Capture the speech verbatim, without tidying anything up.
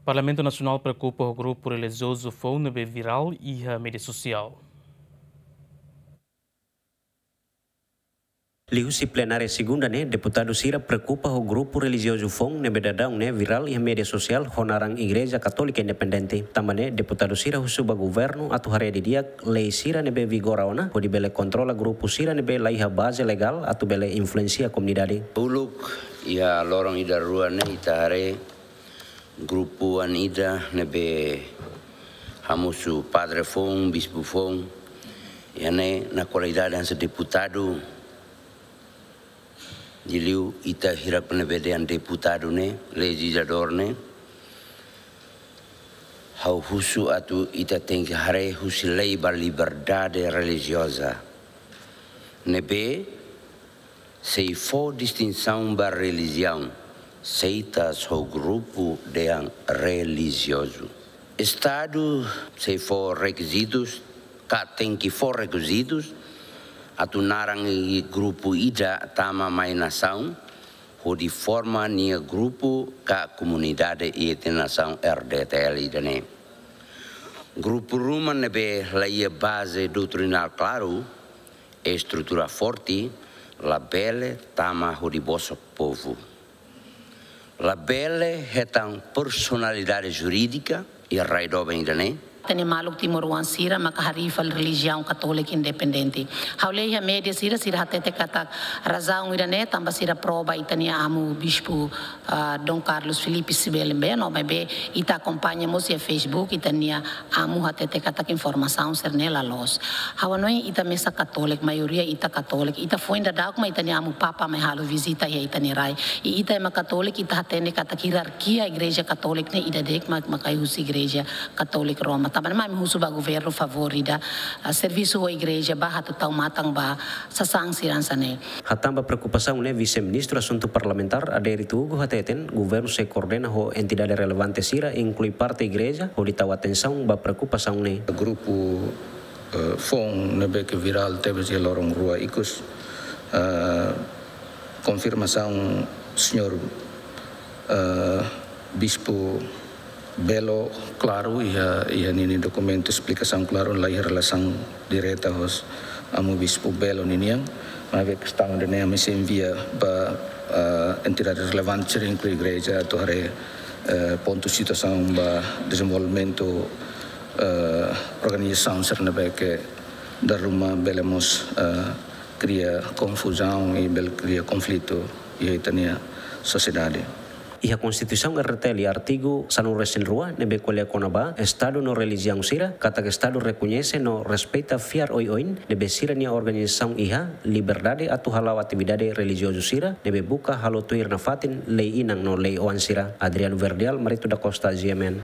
Parlamentu Nasionál preokupa ho grupu relijiozu foun ne'ebé virál iha média sosiál. Liuhusi plenária segunda ne'e, deputadu sira preokupa ho grupu relijiozu foun ne'ebé daudaun ne'e virál iha média sosiál ho naran Igreja Katólika Independente. Tanba ne'e, deputadu sira husu ba governu atu haree didi'ak lei sira ne'ebé vigora ona, hodi bele kontrola grupu sira ne'ebé laiha baze legál atu bele influensia komunidade. Uluk iha loron ida rua ne'e ita haree grupu oan ida ne'ebé hamosu padre foun, bispu foun, iha ne'e na kualidade hanesan deputadu, liuliu ita hirak ne'ebé dehan deputadu ne'e, lejizladór ne'e, ha'u husu atu ita tenke haree husi lei ba liberdade relijioza. Ne'ebé sei fó distinsaun ba relijiaun, seitas ho grupu dehan relijiozu. Estadu sei fó rekizitus, ka tenke fó rekizitus, atu naran i grupu ida tama mai nasaun, hodi forma nia grupu ka komunidade iha nasaun R D T L ida-ne'e. Grupu ruma ne'ebé laiha baze doutrinál klaru, estrutura forte, labele tama hodi bosok povu. Labele hetan personalidade jurídika iha rai doben ida-ne'e. Ita-nia maluk timoroan sira maka harii fali relijiaun Katólika Independente. Ha'u lee iha média sira, sira hatete katak razaun ida-ne'e tanba sira pró ba ita-nia amu bispu, ah, Dom Carlos Filipe Sibeli Beno, maibé ita akompaña mós iha Facebook, ita-nia amu hatete katak informasaun sira-ne'e la loos. Ha'u hanoin ita mesak Katólika, maioria ita Katólika, ita foin daudauk mak ita-nia amu Papa mai halo vizita iha ita-nia rai. I ita ema Katólika, ita hatene katak hierarkia Igreja Katólika ne'e ida de'it mak, mak mai husi Igreja Katólika Roma. Tanba ne'e mak ami husu ba governu favór ida, ah, servisu ho igreja ba atu tau matan ba sasán sira hanesan ne'e. Hatán ba preokupasaun ne'e, Vise-Ministru Asuntu Parlamentár Adérito Hugo hateten, governu sei koordena ho entidade relevante sira, inklui parte igreja, hodi tau atensaun ba preokupasaun ne'e. Grupu, eh, foun ne'ebé ke virál tebes iha loron rua ikus, eh, konfirmasaun señór, eh, Bispu Belo klaru iha, iha ninia dokumentu esplikasaun klaru, laiha relasaun direta ho amu Bispu Belo ninian. Maibé kestaun ida-ne'e ami sei envia ba, ah, entidade relevante sira inklui igreja atu haree, eh, pontu situasaun ba dezenvolvimentu, eh, organizasaun sira ne'ebé ke dala ruma bele mós, eh, kria konfuzaun i bele kria konflitu iha ita-nia sosiedade. Iha Konstituisaun R T L artigu sanulu-resin-rua ne'ebé ko'alia kona-ba Estadu no relijiaun sira, katak Estadu rekoñese no respeita fiar oioin ne'ebé sira-nia organizasaun iha liberdade atu hala'o atividade relijiozu sira ne'ebé buka halo tuir nafatin lei inan no lei oan sira. Adriano Verdial, Marito da Costa, G M N.